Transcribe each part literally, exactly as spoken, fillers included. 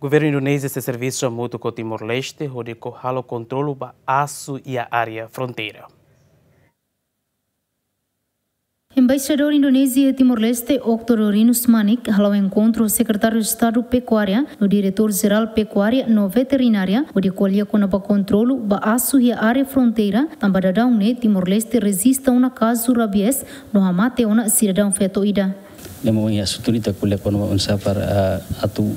Governu Indonézia sei servisu hamutuk ho Timor-Leste hodi halo kontrolu ba asu iha área fronteira. Embaixadór Indonézia iha Timor-Leste, Okto Dorinus Manik, hala'o enkontru ho Sekretáriu Estadu Pekuária no Diretór Jerál Pekuária no Veterinária, hodi ko'alia kona-ba kontrolu ba asu iha área fronteira, tanba daudaun ne'e Timor-Leste rejista ona kazu rabies no hamate ona sidadaun feto ida. Ne'e mak ohin asuntu ita ko'alia kona-ba oinsá para, ah, atu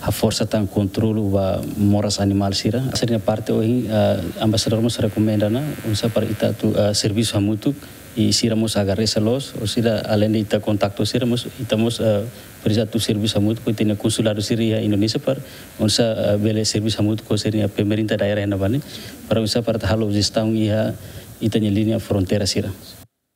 haforsa tan kontrolu ba moras animál sira. Sira-nia parte ohin, ah, embaixadór mós rekomenda ona oinsá para ita atu, ah, servisu hamutuk, i sira mós agradese loos, ou sira além de ita kontaktu sira mós, ita mós, ah, presiza atu servisu hamutuk ho ita-nia konsuladu sira iha Indonézia para oinsá, ah, bele servisu hamutuk ho sira-nia pemerintah daerah iha ne'ebá ne'e, para oinsá para ita halo jestaun iha ita-nia liña fronteira sira.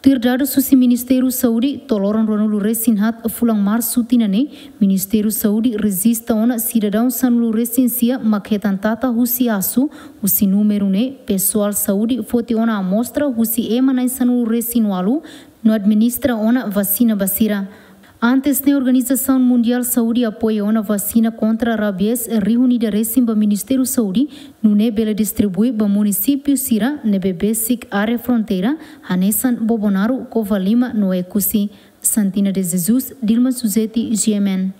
Tuir dadus husi Ministériu Saúde, to'o loron ruanulu resin haat fulan Marsu tinan ne'e, Ministériu Saúde rejista ona sidadaun sanulu resin sia mak hetan tata husi asu, husi númeru ne'e, pesoál saúde foti ona amostra husi ema na'in sanulu resin ualu, no administra ona vasina ba sira. Antes ne'e Organizasaun Mundiál Saúde apoia ona vasina kontra rabies rihun ida resin ba Ministériu Saúde, nune'e bele distribui ba munisípiu sira ne'ebé besik área fronteira, hanesan Bobonaro, Covalima no Oekusi. Santina de Jesus, Dilma Suzeti, G M N.